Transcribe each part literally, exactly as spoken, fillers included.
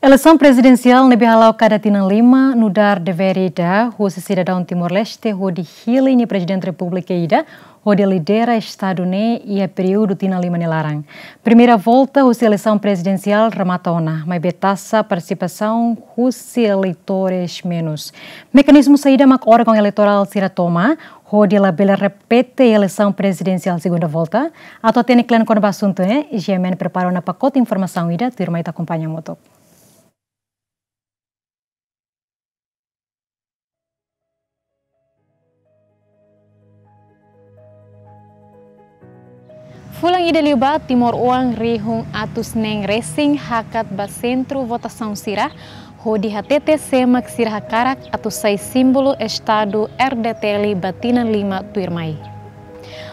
Eleisaun prezidensiál ne'ebé hala'o kada tinan lima nu'udar devér ida husi sidadaun Timor-Leste hodi hili nia Prezidente Repúblika ida hodi lidera estadu ne'e iha períodu tinan lima nia laran. Primeira volta husi eleisaun prezidensiál remata ona, maibé taxa partisipasaun husi eleitores menus. Mekanizmu saida mak órgaun eleitorál sira toma hodi labele repete eleisaun prezidensiál segunda volta? Atu hatene kle'an kona-ba asuntu ne'e, GMN prepara ona pakote informasaun ida, tuirmai ita akompaña hamutuk. Fulan ida liubá, timoroan rihun atus neen resin hakat ba sentru votasaun sira, hodi hatete sé mak sira hakarak atu sai símbolu estadu RDTL ba tinan lima tuirmai.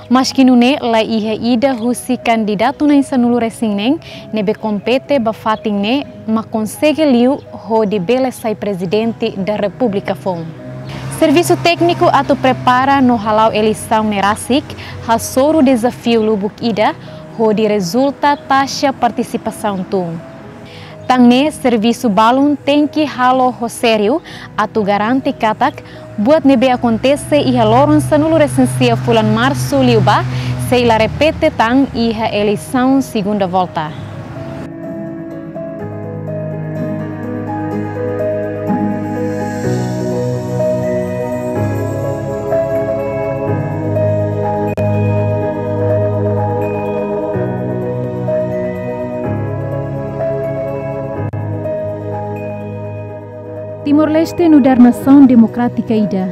Maski nune'e, la iha ida husi kandidatu na'in sanulu resin neen ne'ebé kompete ba fatin ne'e mak konsege liu hodi bele sai Prezidente da Repúblika foun. Servisu tékniku atu prepara no hala'o eleisaun ne'e rasik hasoru dezafiu lubuk ida hodi rezulta taxa partisipasaun tun. Tan ne'e servisu balun tenke halo ho sériu atu garante katak buat ne'ebé akontese iha loron sanulu resin sia fulan Marsu liubá sei la repete tan iha eleisaun segunda volta. Timor-Leste nu'udar nasaun demokrátika ida,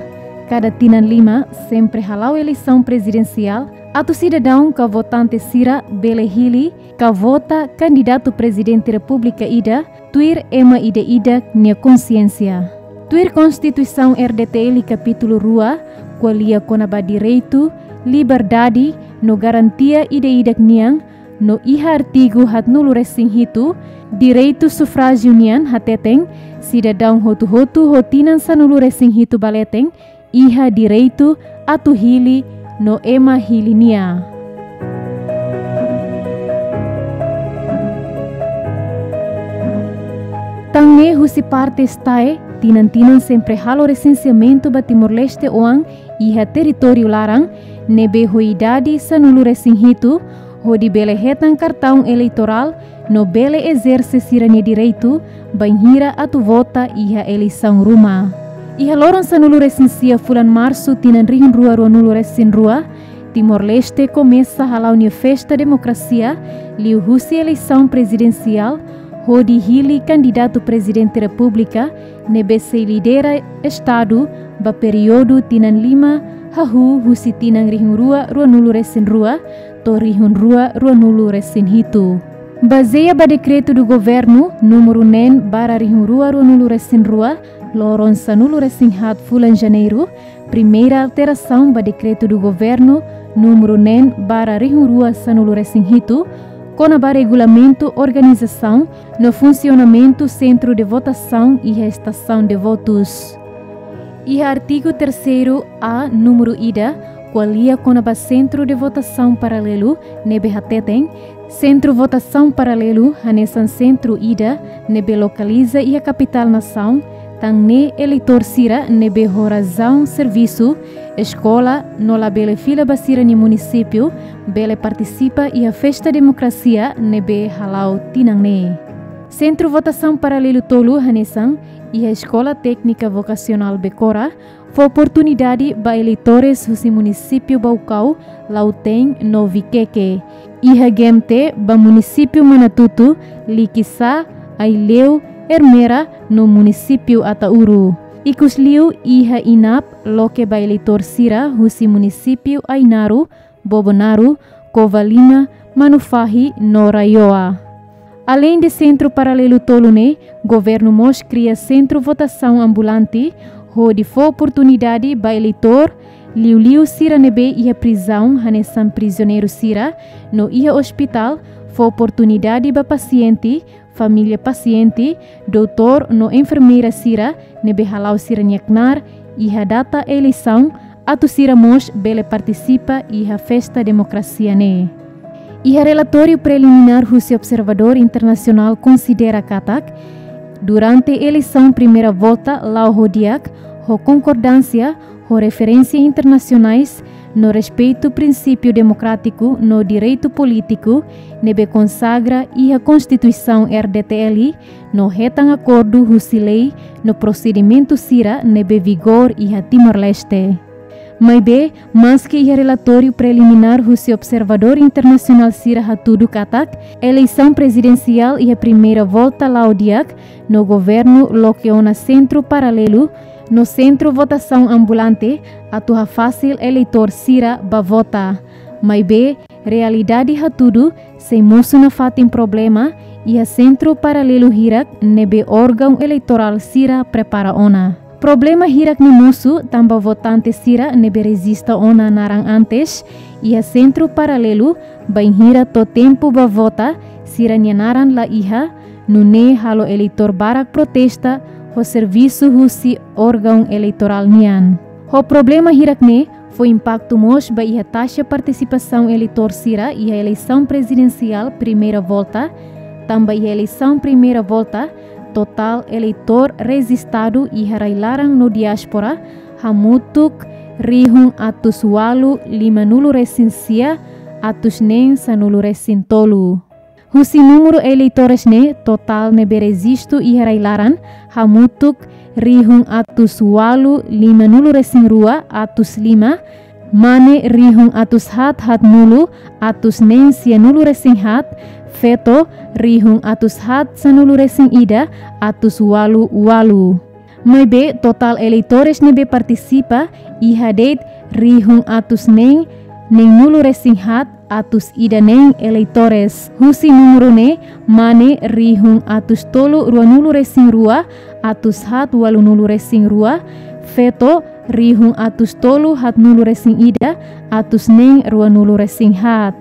kada tinan lima sempre hala'o eleisaun prezidensiál, atu sidadaun ka votante sira bele hili ka vota kandidatu Prezidente Repúblika ida tuir ema ida-idak nia konsiénsia. Tuir Konstituisaun RDTL kapítulu rua, ko'alia kona-ba direitu, liberdade no garantia ida-idak nian, no iha artigu haatnulu resin hitu, direitu sufrájiu nian hateten, sidadaun hotu-hotu ho tinan sanulu resin hitu ba leten, iha direitu atu hili no ema hili nia. Tan ne'e husi parte STAE, tinan-tinan sempre halo resenseamentu ba Timor-Leste oan iha territóriu laran, ne'ebé ho idade sanulu resin hitu, hodi bele hetan kartaun eleitorál no bele ezerse sira-nia direitu bainhira atu vota iha eleisaun ruma. Iha loron sanulu resin sia fulan Marsu tinan rihun rua ruanulu resin rua, Timor-Leste komesa hala'o nia festa demokrasia liuhusi eleisaun prezidensiál hodi hili kandidatu Prezidente Repúblika ne'ebé sei lidera estadu ba períodu tinan lima hahú husi tinan rihun rua ruanulu resin rua to'o rihun rua ruanulu resin hitu. Bazeia ba Dekretu do Governu númeru neen barra rihun rua ruanulu resin rua, loron sanulu resin haat fulan Janeiru, primeira alterasaun ba Dekretu do Governu númeru neen barra rihun rua sanulu resin hitu, kona-ba regulamentu organizasaun no funsionamentu sentru de votasaun iha estasaun de votus. Iha artigu terseiru A númeru ida, ko'alia kona-ba sentru de votasaun paralelu, ne'ebé hateten, sentru votasaun paralelu hanesan sentru ida ne'ebé lokaliza iha kapitál nasaun, tan ne'e eleitór sira ne'ebé ho razaun servisu, eskola no labele fila ba sira-nia munisípiu bele partisipa iha festa demokrasia ne'ebé hala'o tinan ne'e. Sentru votasaun paralelu tolu hanesan iha Eskola Téknika Vokasionál Becora, fó oportunidade ba eleitores husi munisípiu Baucau, Lautém no Viqueque. Iha GMT ba munisípiu Manatuto, Liquiçá, Aileu, Ermera no munisípiu Ataúro. Ikusliu iha INAP loke ba eleitór sira husi munisípiu Ainaro, Bobonaro, Covalima, Manufahi no RAEOA. Aleinde sentru paralelu tolu ne'e, governu mós kria sentru votasaun ambulante, hodi fó oportunidade ba eleitór, liuliu sira ne'ebé iha prizaun hanesan prizioneiru sira, no iha ospitál, fó oportunidade ba pasiente, família pasiente, doutór no enfermeira sira ne'ebé hala'o sira-nia knaar iha data eleisaun, atu sira mós bele partisipa iha festa demokrasia ne'e. Iha relatóriu preliminár husi observadór internasionál konsidera katak, Durante eleisaun primeira volta la'o ho di'ak, ho konkordánsia ho referénsia internasionais, no respeitu prinsípiu demokrátiku no direitu polítiku ne'ebé konsagra iha Konstituisaun R D T L, no hetan akordu husi lei no prosedimentu sira ne'ebé vigor iha Timor-Leste. Maibé, maski iha relatóriu preliminár husi observadór internasionál sira hatudu katak eleisaun prezidensiál iha primeira volta la'o di'ak, no governu loke ona sentru paralelu no sentru votasaun ambulante atu hafasil eleitór sira ba vota. Maibé, realidade hatudu sei mosu nafatin problema iha sentru paralelu hirak ne'ebé órgaun eleitorál sira prepara ona. Problema hirak ne'e mosu tanba votante sira ne'ebé rejista ona naran antes iha sentru paralelu, bainhira to'o tempu ba vota, sira-nia naran la iha, nune'e halo eleitór barak protesta ho servisu husi órgaun eleitorál nian. Ho problema hirak ne'e fó impaktu mós ba iha taxa partisipasaun eleitór sira iha eleisaun prezidensiál primeira volta, tanba iha eleisaun primeira volta, totál eleitór rejistadu iha rai-laran no diáspora hamutuk rihun atus ualu lima-nulu resin sia atus neen sanulu resin tolu. Husi númeru eleitór ne'e, totál ne'ebé rejistu iha rai-laran hamutuk rihun atus ualu lima-nulu resin rua atus lima, mane rihun atus haat haat-nulu atus neen sia-nulu resin haat, feto rihun atus haat sanulu resin ida atus ualu ualu. Maibé, totál eleitór ne'ebé partisipa iha de'it rihun atus neen neen-nulu resin haat atus ida neen eleitór. Husi númeru ne'e, mane rihun atus tolu rua-nulu resin rua atus haat ualu-nulu resin rua, feto rihun atus tolu haat-nulu resin ida atus neen rua-nulu resin haat.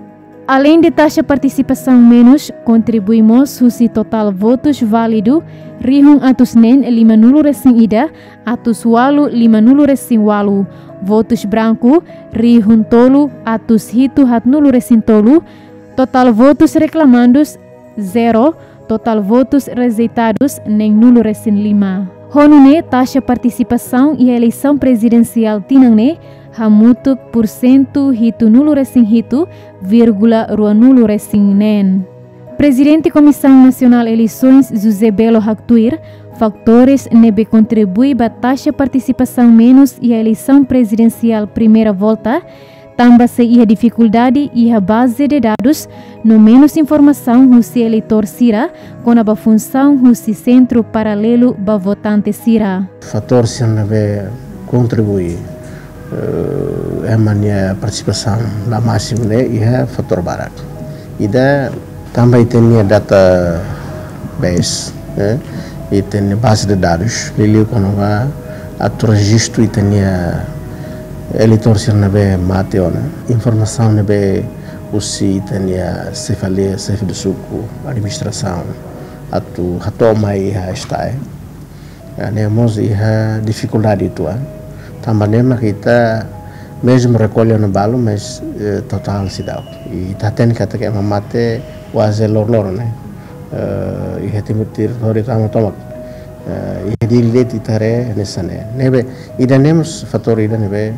Aleinde taxa partisipasaun menus, kontribui mós husi totál votus válidu rihun atus neen lima-nulu resin ida atus ualu lima-nulu resin ualu, votus branku rihun tolu atus hitu haat-nulu resin tolu, totál votus reklamandus zero, totál votus rejeitadus neen-nulu resin lima. Ho nune'e taxa partisipasaun iha eleisaun prezidensiál tinan ne'e hamutuk pursentu hitu-nulu resin hitu vírgula rua-nulu resin neen. Prezidente Komisaun Nasionál Eleisoens José Belo haktuir, fatores ne'ebé kontribui ba taxa partisipasaun menus iha eleisaun prezidensiál primeira volta, tanba sei iha difikuldade iha baze de dadus no menus informasaun husi eleitór sira kona-ba funsaun husi sentru paralelu ba votante sira. Fatór sira ne'ebé kontribui, eh, ema nia partisipasaun la másimu ne'e iha fatór barak. Ida tanba ita-nia database, eh, ita-nia baze de dadus, liuliu kona-ba atu rejistu ita-nia eleitór sira ne'ebé mate ona. Informasaun ne'ebé husi ita-nia xefalia, xefe de suku, administrasaun, atu hato'o mai iha STAE. Ne'e mós iha difikuldade uitoan. Tanba ne'e mak ita mezmu rekolla ona balu, mas, eh, totál seidauk. I ita hatene katak ema mate kuaze loron-loron ne'e. Eh, iha Timor territóriu tama tomak. Eh, iha Dili de'it ita haree hanesan ne'e. Ne'ebé, ida-ne'e mós fatór ida ne'ebé,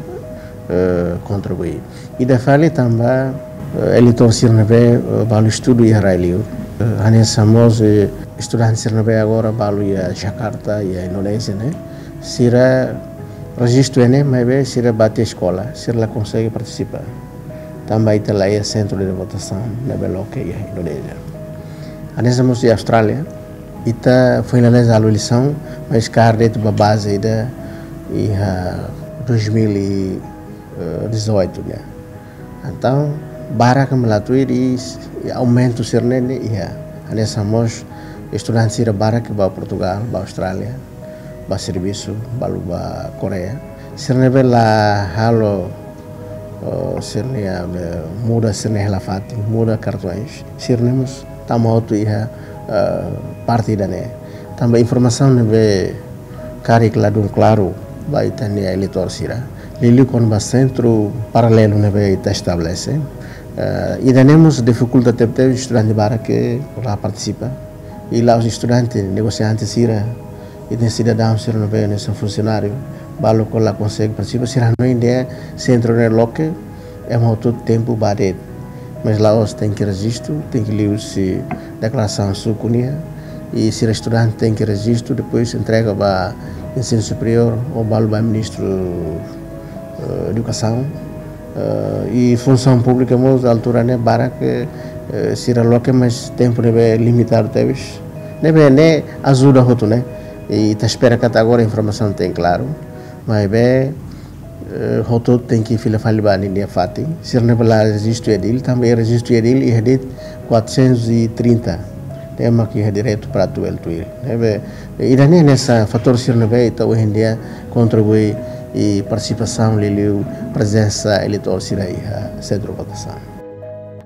eh, kontribui. Ida fali tanba, eh, eleitór sira ne'ebé, eh, balu estuda iha rai-liur. Eh, hanesan mós, eh, estudante sira ne'ebé agora balu iha Jakarta, iha Indonézia ne'e. Sira rejistu iha ne'e, maibé sira bá tiha eskola, sira la konsege partisipa. Tanba ita la iha sentru de votasaun ne'ebé loke iha Indonézia. Hanesan mós iha Austrália, ita finaliza halo eleisaun, mas kaer de'it ba baze ida iha dois mil e dezoito ne'e. Entaun, barak ema la tuir i, i aumentu sira-ne'e iha. Hanesan mós estudante sira barak bá Portugal, bá Austrália, bá servisu, balu bá Koreia. Sira ne'ebé la halo, oh, sira-nia, eh, muda sira-nia hela fatin, muda kartões. Sira-ne'e mós tama hotu iha, eh, parte ida-ne'e. Tanba informasaun ne'ebé karik ladún klaru ba ita-nia eleitór sira. Liuliu kona-ba sentru paralelu ne'ebé ita estabelese. Eh, ida-ne'e mós difikulta tebetebes, estudante barak la partisipa. I la'ós estudante, negosiante sira, i sidadaun sira ne'ebé hanesan funsionáriu, balu ke la konsege partisipa, sira hanoin dehan sentru ne'e loke, ema hotu tempu ba de'it. Mas la'ós, tenke rejistu, tenke liuhusi deklarasaun suku nian, i sira estudante tenke rejistu, depois entrega ba ensinu superiór ou balu ba ministru, eh, edukasaun. Eh, i funsaun públika mós altura ne'e barak, eh, sira loke, mas tempu ne'ebé limitadu tebes. Ne'ebé ne'e ajuda hotu ne'e. I ita espera katak agora informasaun tenke klaru. Maibé, eh, hotu tenke fila fali ba ninia fatin. Sira ne'ebé la rejistu iha DIL, tanba rejistu iha DIL iha de'it quatrocentos e trinta. Ema ke iha direitu para atu bele tuir. Ne'ebé, ida-ne'e hanesan fatór sira ne'ebé ita ohin dia kontribui iha partisipasaun liuliu prezensa eleitór sira iha sentru votasaun.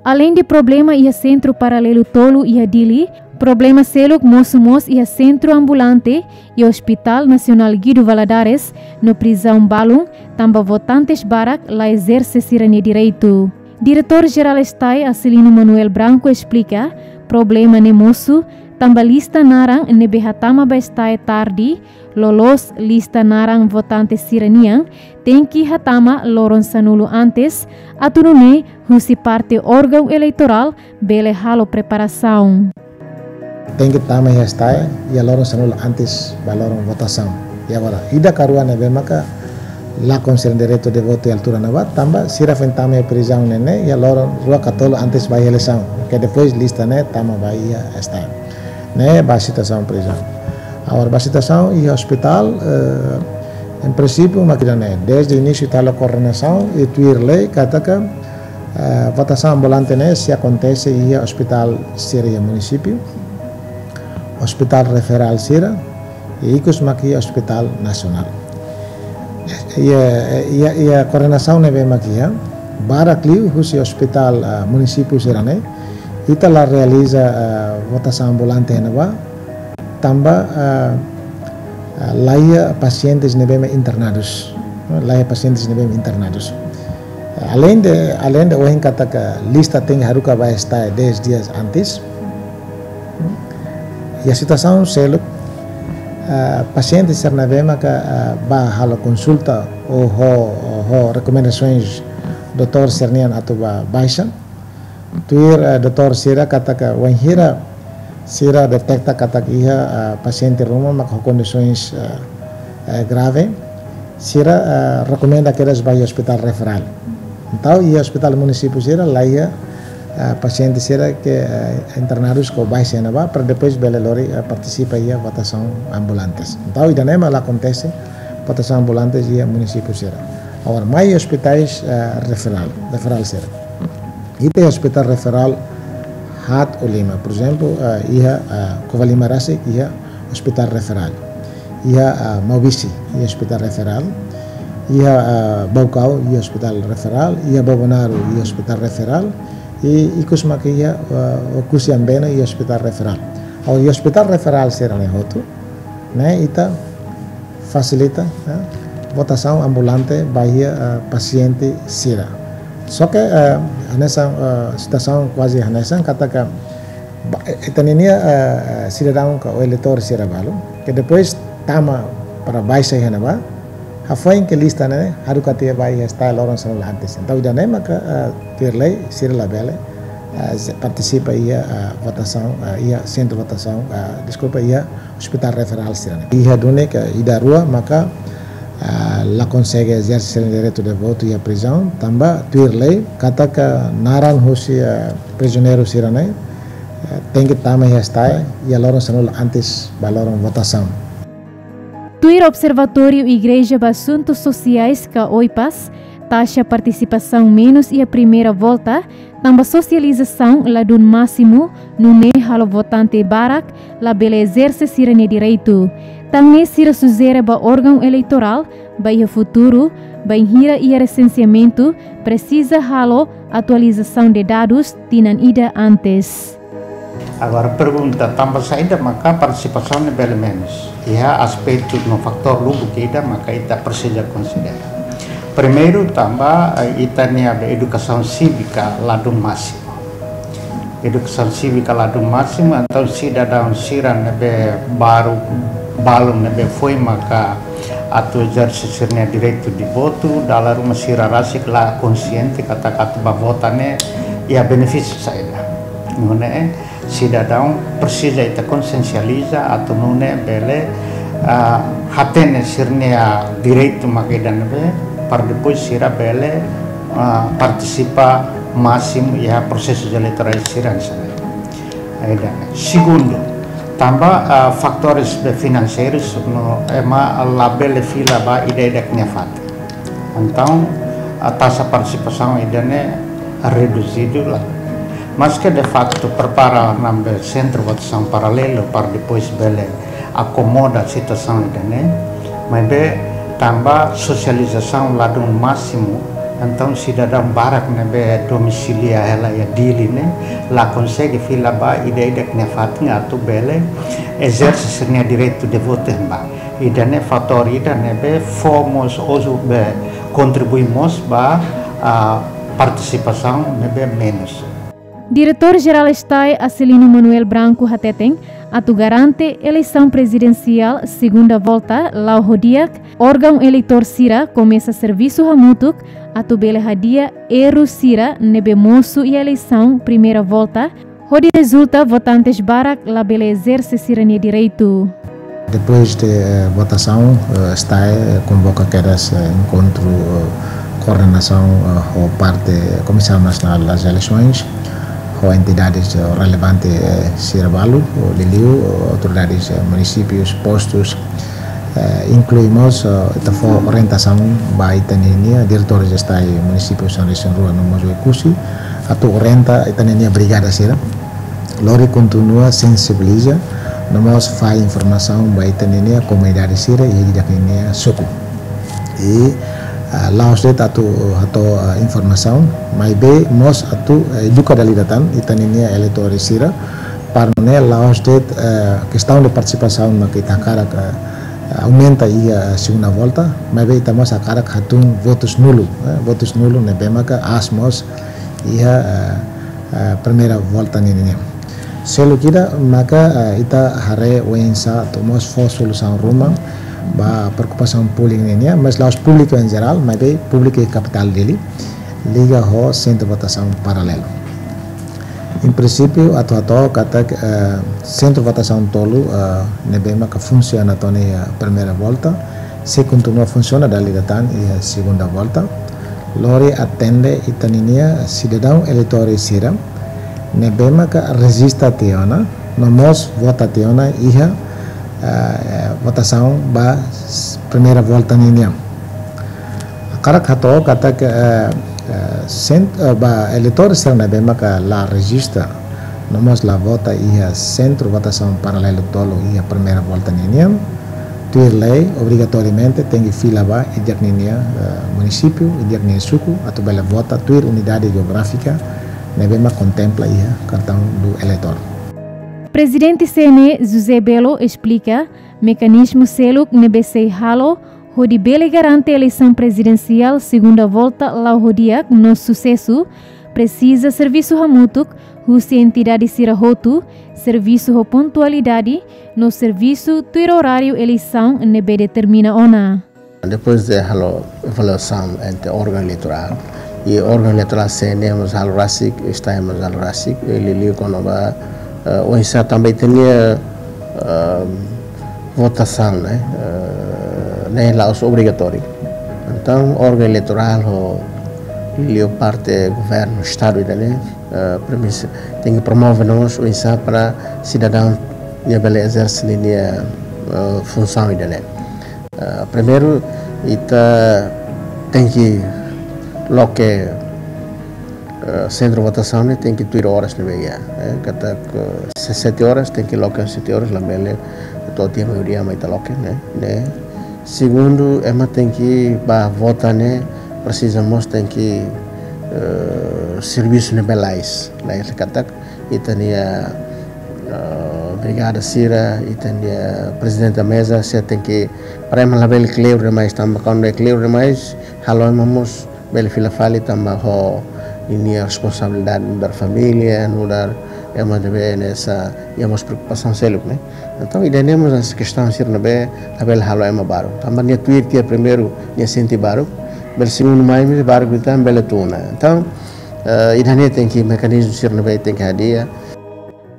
Aleinde problema iha sentru paralelu tolu iha Dili, problema seluk mosu mós iha sentru ambulante, iha Hospital Nasionál Guido Valadares, no prizaun balun, tanba votantes barak la ezerse sira-nia direitu. Diretór Jerál STAE, Acilino Manuel Branco, esplika, problema ne'e mosu, tanba lista naran ne'ebé hatama ba STAE tarde, loloos lista naran votante sira-nian, tenke hatama loron sanulu antes, atu nune'e husi parte órgaun eleitorál bele halo preparasaun. Tenke tama iha STAE iha loron sanulu antes ba loron votasaun. I agora, ida ka rua ne'ebé maka lakon sira-nia direitu de votu iha altura ne'ebá, tanba sira foin tama iha prizaun ne'e ne'e iha loron rua ka tolu antes ba iha eleisaun. Ke depois lista ne'e tama ba iha STAE. Ne'e ba situasaun prizaun. Agora, ba situasaun iha hospital, eh, em princípio, mak ida-ne'e, desde inísiu ita halo koordenasaun i tuir lei katak, eh, votasaun ambulante ne'e sei akontese iha hospital sira iha munisípiu, hospital referál sira, i ikus mak iha hospital nasionál. Iha, iha, iha koordenasaun ne'ebé mak iha, barak liu husi hospital, ah, munisípiu sira-ne'e, ita la realiza, ah, votasaun ambulante iha ne'ebá, tanba, ah, ah, la iha pasientes ne'ebé mak internadus. La iha pasientes ne'ebé mak internadus. Aleinde, aleinde ohin katak lista tenke haruka ba STAE dez dias antes. Iha situasaun seluk, ah, pasiente sira ne'ebé maka, ah, bá halo konsulta ou ho, ho rekomendasoens doutór sira-nian atu bá baixa. Tuir, eh, doutór sira katak wainhira sira deteta katak iha, eh, pasiente ruma maka ho kondisoens, eh, eh, grave, sira, eh, rekomenda kedas ba iha hospital referál. Entaun iha hospital munisípiu sira la iha, eh, pasiente sira ke, eh, internadus ke baixa iha ne'ebá, para depois bele lori, eh, partisipa iha votasaun ambulantes. Entaun ida-ne'e mak la akontese votasaun ambulantes iha munisípiu sira. Agora, mai hospitais, eh, referál, referál sira. Ita iha hospital referál haat ou lima. Por ezemplu, eh, iha, eh, Covalima rasik iha hospital referál. Iha, eh, Maubisse iha hospital referál. Iha, eh, Baucau iha hospital referál. Iha Bobonaro iha hospital referál. I ikus maka iha, eh, Oekusi Ambeno iha hospital referál. Agora, iha hospital referál sira-ne'e hotu, ne'e ita fasilita, eh, votasaun ambulante ba iha, eh, pasiente sira. Só ke, eh, hanesan, eh, situasaun kuaze hanesan katak, ba, eh, ita ninia, eh, sidadaun ka eleitór sira balu ke depois tama para baixa iha ne'ebá, hafoin ke lista ne'e haruka tiha ba iha STAE loron sanulu antes. Entaun ida-ne'e maka, eh, tuir lei sira labele, eh, partisipa iha, eh, votasaun, eh, iha sentru votasaun, eh, deskulpa, iha hospital referál sira-ne'e. Iha duni ka ida rua maka, ah, la konsege ezerse sira-nia direitu de votu iha prizaun, tanba tuir lei katak naran husi, ah, prizioneiru sira-ne'e, ah, tenke tama iha STAE iha loron sanulu antes ba loron votasaun. Tuir Observatóriu Igreja ba Asuntus Sosiais ka OIPAS, taxa partisipasaun menus iha primeira volta, tanba sosializasaun ladún másimu, nune'e halo votante barak labele ezerse sira-nia direitu. Tan ne'e sira sujere ba órgaun eleitorál, ba iha futuru, bainhira iha resenseamentu, presiza halo atualizasaun de dadus tinan ida antes. Agora pergunta, tanba saida maka partisipasaun ne'e bele menus? Iha aspetu no fatór lubuk ida maka ita presiza konsidera. Primeiru, tanba, eh, ita-nia edukasaun sívika ladún másimu. edukasaun sívika ladún másimu, entaun sidadaun sira ne'ebé balu, balu ne'ebé foin maka atu ezerse sira-nia direitu de votu, dala ruma sira rasik la konxiente katak atu bá vota ne'e iha benefísiu saida. Nune'e sidadaun presiza ita konsiensializa atu nune'e bele, ah, hatene sira-nia direitu mak ida ne'ebé, para depois sira bele, ah, partisipa másimu iha prosesu eleitorál sira hanesan ne'e. Ida-ne'e. Segundu, tanba, ah, fatores be finanseiru no ema labele fila ba ida-idak nia fatin. Entaun, ah, taxa partisipasaun ida-ne'e reduzidu la. Maske de facto prepara ona be sentru votasaun paralelu para depois bele akomoda situasaun ida-ne'e, maibé tanba sosializasaun ladún másimu, entaun sidadaun barak ne'ebé domisilia hela iha Dili ne'e la konsege fila ba ida-idak nia fatin atu bele ezerse sira-nia direitu de votu iha ne'ebá. Ida-ne'e fatór ida ne'ebé fó mós ozu be kontribui mós ba, ah, partisipasaun ne'ebé menus. Diretór Jerál STAE Acilino Manuel Branco hateten, atu garante eleisaun prezidensiál segunda volta la'o ho di'ak, órgaun eleitór sira komesa servisu hamutuk atu bele hadi'a erru sira ne'ebé mosu iha eleisaun primeira volta, hodi rezulta votantes barak labele ezerse sira-nia direitu. Depois de, eh, votasaun, eh, STAE, eh, konvoka kedas, eh, enkontru, eh, koordenasaun, eh, ho parte Komisaun Nasionál das Eleisoens, ho entidades, eh, relevante, eh, sira balu, ho liuliu, eh, autoridades, eh, munisípius, postus, eh, inklui mós, eh, ita fó orientasaun ba ita-ninia diretór STAE munisípiu São Luís, São Rua, no mós Oekusi, atu orienta ita-ninia brigada sira lori kontinua sensibiliza, no mós fahe informasaun ba ita-ninia komunidade sira iha ita-ninia suku. I, ah, la'ós de'it atu hato'o, ah, informasaun, maibé mós atu, eh, eduka dala ida tan ita-ninia eleitór sira, para nune'e la'ós de'it, eh, kestaun de partisipasaun mak ita hakarak, eh, aumenta iha segunda volta, maibé ita mós hakarak hatún votus nulu, eh, votus nulu ne'ebé maka aas mós iha, eh, eh, primeira volta ninian. Seluk ida maka, eh, ita haree oinsá atu mós fó solusaun ruma ba preokupasaun públiku ninian, mas la'ós públiku em geral, maibé públiku iha kapitál Dili, liga ho sentru votasaun paralelu. Em princípio, atu hato'o katak, eh, sentru votasaun tolu, eh, ne'ebé maka funsiona to'o iha primeira volta, sei kontinua funsiona dala ida tan iha segunda volta, lori atende ita-ninia sidadaun eleitór sira ne'ebé maka rejista tiha ona, no mós vota tiha ona iha, eh, votasaun ba s-, primeira volta ninian. Hakarak hato'o katak, eh, eh, sent-, eh, ba eleitór sira ne'ebé maka la rejista, no mós la vota iha sentru votasaun paralelu tolu iha primeira volta ninian, tuir lei, obrigatoriamente tenke fila ba ita-ninia, eh, munisípiu, ita-nia suku, atu bele vota tuir unidade jeográfika ne'ebé mak kontempla iha cartão do eleitor. Prezidente C N E José Belo esplika mekanizmu seluk ne'ebé sei halo hodi bele garante eleisaun prezidensiál segunda volta la'o ho di'ak no susesu, presiza servisu hamutuk husi entidade sira hotu, servisu ho pontualidade, no servisu tuir oráriu eleisaun ne'ebé determina ona. Depois de halo avaliasaun entre órgaun eleitorál, i órgaun eleitorál C N E mós halo rasik, STAE mós halo rasik, i liuliu kona-ba, eh, oinsá tanba ita-nia, eh, votasaun, ne'e, eh, ne'e la'ós obrigatóriu. Entaun, órgaun eleitorál ho liuliu parte governu, Estadu ida-ne'e, eh, premisa, tenke promove no mós oinsá para sidadaun nia bele ezerse ninia, eh, funsaun ida-ne'e. Eh, primeiru, ita tenke loke, eh, sentru votasaun ne'e tenke tuir oras ne'ebé iha, eh, katak, eh, se sete horas tenke loke sete horas, labele to'o tiha meiudia mai ita loke, ne'e, ne'e. Segundu, ema tenke bá vota ne'e presiza mós tenke, eh, servisu ne'ebé lalais, lalais katak ita-nia, eh, brigada sira, ita-nia prezidente da meza, sira tenke, para ema labele kleur demais, tanba kuandu kleur demais, halo ema mós bele fila fali tanba ho ninia responsabilidade nu'udar família, nu'udar, Ema ne'ebé hanesan iha mós preokupasaun seluk, ne'e. Entaun, ida-ne'e mós hanesan kestaun sira ne'ebé labele halo ema baruk. Tanba nia tuir tiha primeiru, nia sente baruk. Bele segundu mai, mais baruk ida tan bele tun ona. Entaun, eh, ida-ne'e tenke mekanizmu sira ne'ebé tenke hadi'a.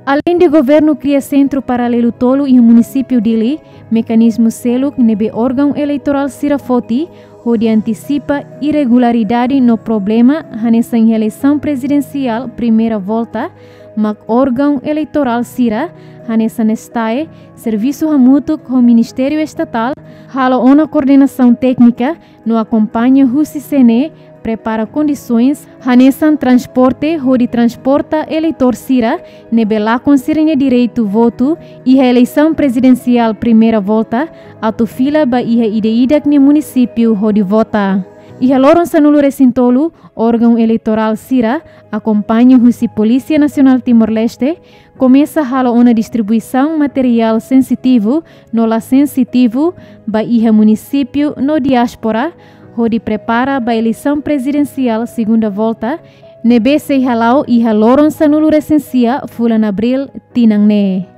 Aleinde governu kria sentru paralelu tolu iha munisípiu Dili, mekanizmu seluk ne'ebé órgaun eleitorál sira foti hodi antisipa irregularidade no problema hanesan iha eleisaun prezidensiál primeira volta, mak órgaun eleitorál sira hanesan STAE, servisu hamutuk ho Ministériu Estatál, halo ona koordenasaun téknika no akompaña husi C N E, prepara kondisoens hanesan transporte hodi transporta eleitór sira ne'ebé lakon sira-nia direitu votu iha eleisaun prezidensiál primeira volta, atu fila ba iha ida-idak nia munisípiu hodi vota. Iha loron sanulu-resin-tolu, órgaun eleitorál sira, akompaña husi Polísia Nasionál Timor-Leste, komesa halo ona distribuisaun materiál sensitivu no la sensitivu ba iha munisípiu no diáspora, hodi prepara ba eleisaun prezidensiál segunda volta, ne'ebé sei hala'o iha loron sanulu-resin-sia fulan Abríl tinan ne'e.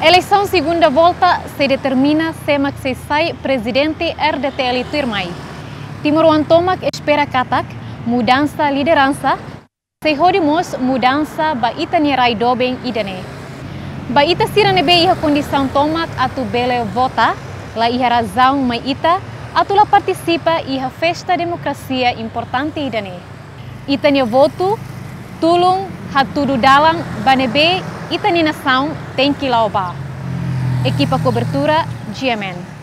Eleisaun segunda volta sei determina sé mak sei sai prezidente R D T L tuirmai. Timoroan tomak espera katak mudansa lideransa sei hodi mós mudansa ba ita-nia rai doben ida-ne'e. Ba ita sira ne'ebé iha kondisaun tomak atu bele vota, la iha razaun mai ita atu la partisipa iha festa demokrasia importante ida-ne'e. Ita-nia votu tulun hatudu dalan ba ne'ebé ita-nia nasaun tenke la'o ba. Ekipa kobertura, G M N.